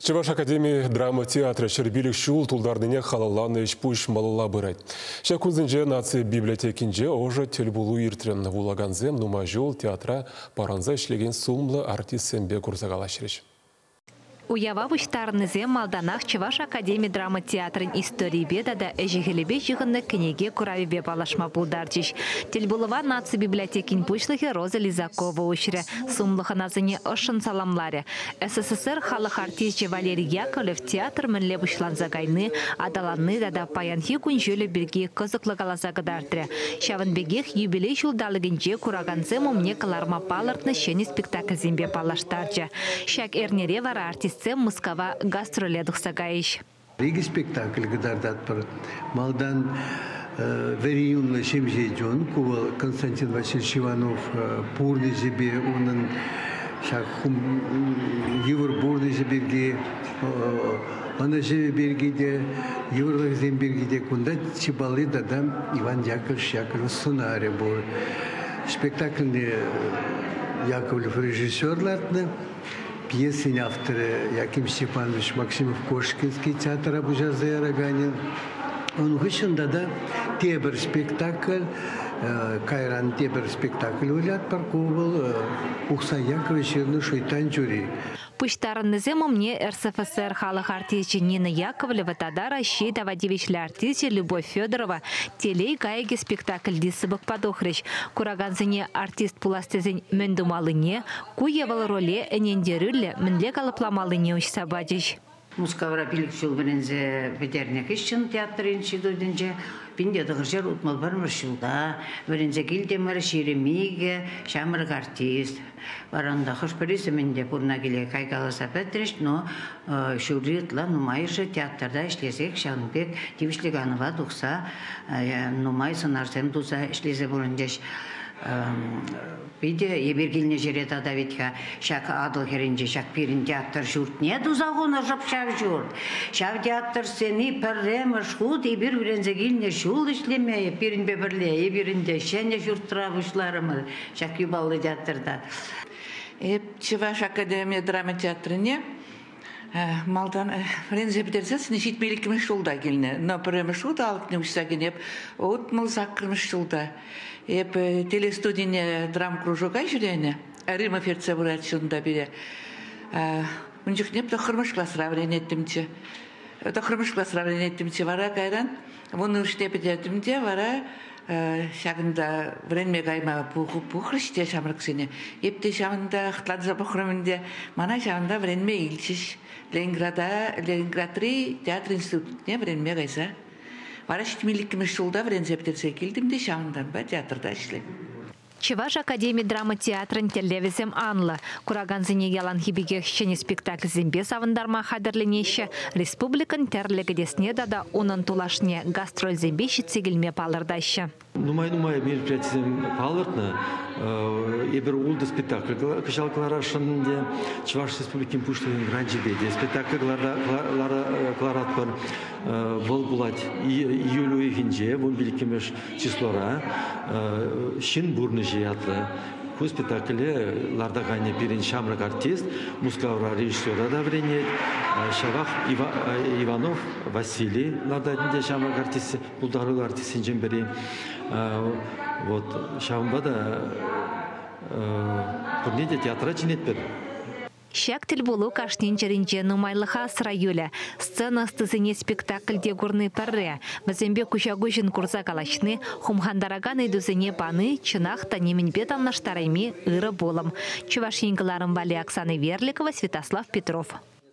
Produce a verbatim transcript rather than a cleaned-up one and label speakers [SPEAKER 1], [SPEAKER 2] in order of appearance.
[SPEAKER 1] Чӑваш академи драма театрӗ ҫӗр пилӗк ҫул тултарнине халалланӑ ӗҫ-пуҫ малалла пырать. Ҫак кунсенче наци библиотекинче ӑшӑ тӗлпулу иртрӗ. Вулакансем нумай ҫул театра парӑнса ӗҫлекен сумлӑ артистсемпе курса калаҫрӗҫ.
[SPEAKER 2] Уява пуҫтарӑннисем малтанах Чӑваш академи драма театрӗн историйӗпе тата ӗҫӗ-хӗлӗпе ҫыхӑннӑ кӗнеке куравӗпе паллашма пултарчӗҫ. Тӗлпулӑва наци библиотекин пуҫлӑхӗ Роза Лизакова уҫрӗ. Сумлӑ хӑнасене ӑшшӑн саламларӗ. С С С Р халӑх артисчӗ Валерий Яковлев театр мӗнле пуҫланса кайни, аталанни тата паянхи кун-ҫулӗ пирки кӑсӑклӑ каласа кӑтартрӗ. Ҫавӑн пекех юбилей ҫулталӑкӗнче куракансем умне кӑларма палӑртнӑ ҫӗнӗ спектакльсемпе паллаштарчӗ. Ҫак эрнере вара артистсем Мускава гастроле тухса кайӗҫ.
[SPEAKER 3] Икӗ спектакль кӑтартатпӑр. Малтан «Вӗри юнлӑ ҫемҫе чун», ку вӑл Константин Васильевич Иванов пурнӑҫӗпе, унӑн ҫак йывӑр пурнӑҫӗ пирки, ӑнӑҫӑвӗ пирки те, йывӑрлӑхӗсем пирки те. Кунта чи палли тата Иван Яковлевич Яковлев сӑнарӗ пур. Спектакльне Яковлев режиссер лартнӑ. Пьесин авторӗ Яким Степанович Максимов-Кошкинский, театра пуҫарса яраканӗ. Ун хыҫҫӑн тата тепӗр спектакль, кайран тепӗр спектакль вылятпӑр. Ку вӑл Ухсай Яковлев ҫырнӑ «Шуйттан чури».
[SPEAKER 2] Пуҫтарӑннисем умне Р С Ф С Р халӑх артисчӗ Нина Яковлева тата Раҫҫей тава тивӗҫлӗ артисчӗ Любовь Федорова «Телей кайӑкӗ» спектакльти сыпӑкпа тухрӗҫ. Куракансене артист пулас тесен мӗн тумаллине, ку е вӑл роле ӗнентерӳллӗ мӗнле калӑпламаллине уҫса пачӗҫ.
[SPEAKER 4] Мускавра пилӗк ҫул вӗренсе пӗтернӗ хыҫҫӑн театр институтӗнче пин те тӑхӑр ҫӗр утмӑл пӗрмӗш ҫулта вӗренсе килтӗмӗр, ҫирӗм икӗ ҫамрӑк артист. Вара унта хӑш-пӗрисем ӗнтӗ пурӑна киле кайкаласа пӗтрӗҫ, но ҫурри ытла нумайӑшӗ театрта ӗҫлесех ҫавӑн пек тивӗҫлӗ канӑва тухса нумай сӑнарсем туса ӗҫлесе пурӑнчӗҫ. Питӗ эпир килнӗ ҫӗре тата вит-ха ҫак Атӑл хӗрринче ҫак пирӗн театр ҫуртне туса хунӑ, шӑп ҫав ҫурт. Ҫав театр сцени пӗрремӗш хут эпир вӗренсе килнӗ ҫул ӗҫлеме пирӗнпе пӗрле. Эпир ӗнтӗ ҫӗнӗ ҫуртра пуҫларӑмӑр ҫак юпаллӑ театрта.
[SPEAKER 5] Эп Чӑваш академи драма театрне малтан вӗренсе пӗтерсессӗн ҫитмӗл иккӗмӗш ҫулта килнӗ. Но пӗрремӗш хут алӑкне уҫса кӗнӗ эп утмӑл саккӑрмӗш ҫулта. Эп телестудине драм кружока ҫӳренӗ. Римма ертсе пыратчӗ унта пире. Ун чухне тӑххӑрмӗш класра вӗренеттӗмччӗ. Тӑххӑрмӗш класра вӗренеттӗмччӗ. Вара кайран вуннӑмӗшне пӗтертӗм те вара ҫакӑнта вӗренме кайма пухрӗҫ те ҫамрӑксене. Эп те ҫавӑнта хӑтланса пӑхрӑм ӗнтӗ. Мана ҫавӑнта вӗренме илчӗҫ. Ленинграда, Ленинградри театр институтне вӗренме кайса. Вара ҫитмӗл иккӗмӗш ҫулта вӗренсе пӗтерсе килтӗм те ҫавӑнтанпа театрта ӗҫлем.
[SPEAKER 2] Чӑваш академи драма театрӗн тӗллевӗсем анлӑ. Куракансене яланхи пекех ҫӗнӗ спектакльсемпе савӑнтарма хатӗрленеҫҫӗ. Республикӑн тӗрлӗ кӗтесне тата унӑн тулашне гастрольсемпе ҫитсе килме палӑртаҫҫӗ.
[SPEAKER 6] Нумай-нумай мероприятисем палӑртнӑ. Эпир ултӑ спектакль кӑҫал кӑларасшӑн ӗнтӗ. Чӑваш Республикин Пуҫлӑхӗн гранчӗпе те спектакль кӑларатпӑр. Вӑл пулать июль уйӑхӗнче, вун пиллӗкмӗш числора, «Ҫын пурнӑҫӗ» ятлӑ. Ку спектакле лартаканӗ пирӗн ҫамрӑк артист, Мускавра режиссера та вӗренет. Ҫавах Иванов Василий лартать ӗнтӗ, ҫамрӑк артист, пултаруллӑ артистсенчен пӗри. Вот ҫавӑнпа та пурне те театра чӗнетпӗр.
[SPEAKER 2] Ҫак тӗлпулу кашнин чӗринче нумайлӑха асра юлӗ. Сцена ӑстисене спектакльте курни пӗрре. Вӗсемпе куҫа-куҫӑн курса калаҫни, хумхантаракан ыйтусене пани чӑнах та нимӗнпе танлаштарайми ырӑ пулӑм. Чӑваш Ен кӑларӑм валли Оксана Верликова, Святослав Петров.